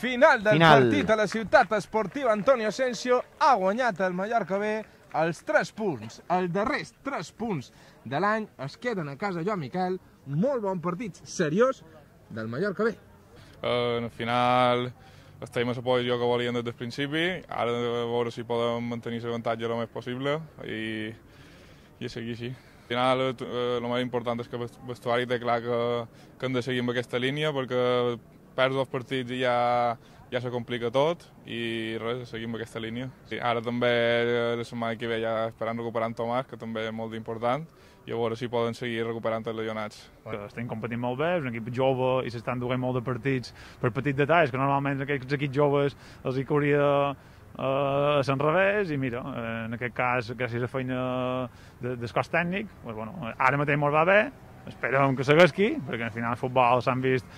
Final del partit a la ciutat esportiva Antonio Asensio. Ha guanyat el Mallorca B els 3 punts. Els darrers 3 punts de l'any es queden a casa Joan Miquel. Molt bon partit, seriós, del Mallorca B. Al final estem a la posició que volíem des del principi. Ara a veure si podem mantenir l'avantatge el més possible i seguir així. Al final, el més important és que el vestuari té clar que hem de seguir amb aquesta línia, perquè perds 2 partits i ja se complica tot, i res, seguim amb aquesta línia. Ara també, la setmana que ve, ja esperant recuperar en Tomàs, que també és molt important, i a veure si poden seguir recuperant els legionats. Estem competint molt bé, és un equip jove i s'estan duent molt de partits per petits detalls, que normalment aquests equips joves els hi cauria a l'enrevés, i mira, en aquest cas, gràcies a la feina del cos tècnic, doncs, bueno, ara mateix ens va bé, esperem que segueixi, perquè al final al futbol s'han vist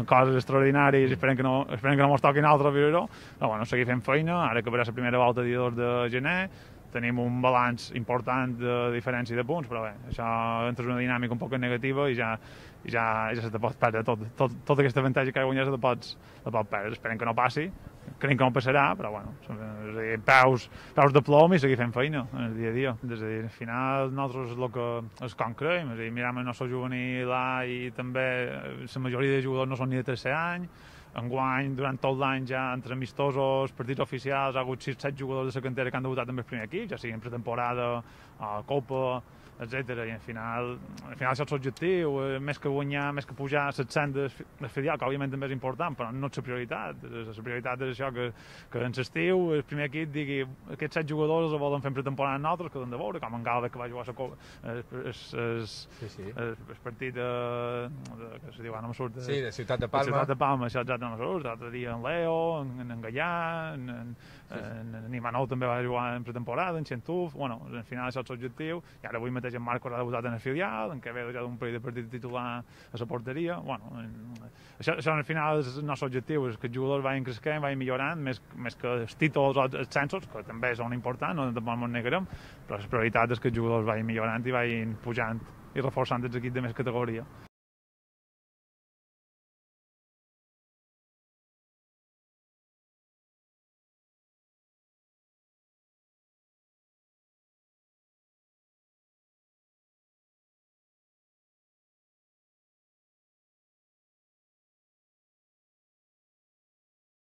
coses extraordinàries i esperem que no ens toquin altres viure-ho, però bueno, seguir fent feina, ara que verà la primera volta el dia 2 de gener, tenim un balanç important de diferència de punts, però bé, això entra una dinàmica un poc negativa i ja se te pot perdre tot aquest avantatge que guanyes te pots perdre. Esperem que no passi, creiem que no passarà, però bueno, és a dir, peus de plom i seguir fent feina en el dia a dia. És a dir, al final nosaltres és com creiem, és a dir, mirem el nostre juvenil A i també la majoria de jugadors no són ni de tercer any. Enguany, durant tot l'any, ja entre amistosos, partits oficials, ha hagut 6-7 jugadors de la cantera que han debutat amb el primer equip, ja sigui en pretemporada, Copa, etc. I al final això és l'objectiu, més que guanyar, més que pujar a 700 del filial, que òbviament també és important, però no és la prioritat. La prioritat és això, que en l'estiu el primer equip digui aquests 7 jugadors els volen fer en pretemporada amb nosaltres, que han de veure, com en Galvez, que va jugar el partit que se diu, no me surt, de Ciutat de Palma. Ciutat de Palma, això exacte no me surt, l'altre dia en Leo, en Gallà, en Imanol també va jugar en pretemporada, en Xentuf, bueno, al final això és l'objectiu, i ara avui mateix en Marcos ha debutat en el filial, en què ve ja d'un parell de partits titular a la porteria. Bueno, això al final és el nostre objectiu, és que els jugadors vagin creixent, vagin millorant, més que els títols o els censos, que també són importants, no tampoc ens negarem, però la prioritat és que els jugadors vagin millorant i vagin pujant i reforçant els equips de més categoria.